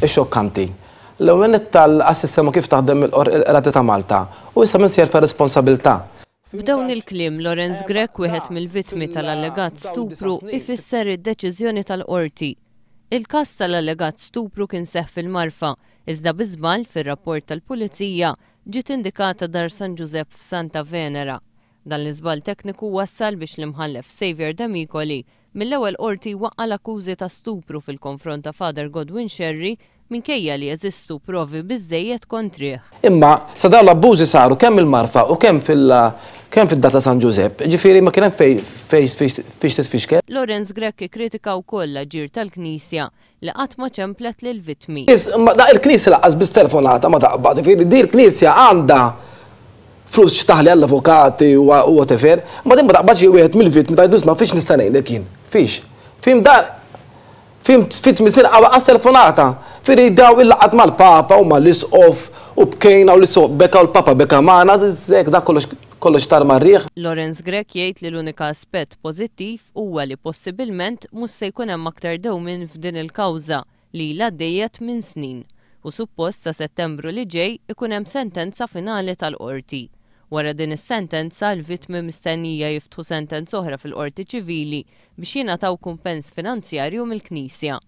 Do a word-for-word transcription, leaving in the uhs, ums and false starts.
Xokkanti. L-ewwel tal-sistema kif taħdem il-Qrati ta' Malta u issa min se jerfa' responsabilità. B'dawn il-kliem, Lawrence Grech, wieħed mill-vittmi tal-allegat stupru, ifisser id-deċiżjoni tal-qorti. Il-każ tal-allegat stupru kien seħħ fil-Marfa, iżda bi żball fir-rapport tal-Pulizija ġiet indikata Dar San Ġużepp f'Santa Venera. Dan l-iżball tekniku wassal biex l-Imħallef Xavier Demicoli mill-ewwel qorti waqqa' l-akkużi ta' stupru fil-konfront ta' Father Godwin Scerri, minkejja li jeżistu provi biżejjed kontrih. Imma sa dawn l-abbużi saru kemm il-Marfa u kemm fil- kemm fid-Dar ta' San Ġużepp, ġifieri ma kien hemm fej fej fiex titfixkel. Lawrence Grech kritika wkoll l-aġir tal-Knisja li qatt ma ċemplet lill-vittmi. Ma da il-Knisja lanqas biss telefonata ma taqbad, ġifieri di l-Knisja għandha flus x'taħli għall-avukati u whatever, ma din ma taqbadx wieħed mill-vittmi tgħidu: "Ma fiex nista' ngħidlek jien?" Fiex? Fim da fim fit misir għas telefonata. Firi daw il-laqat mal-Papa u mal-Isqof u bkejna u l-Isqof beka u l-Papa beka magħna, da kollox kollox tar mar-riħ. Lawrence Grech jgħid li l-unika aspett pożittiv huwa li possibilment mhux se jkun hemm aktar dewmien f'din il-kawża li ilha għaddejja minn snin u suppost sa Settembru li ġej ikun hemm sentenza finali tal-qorti. Wara din is-sentenza, l-vittmi mistennija jiftħu sentenza oħra fil-qorti ċivili biex jingħataw kumpens finanzjarju mill-Knisja.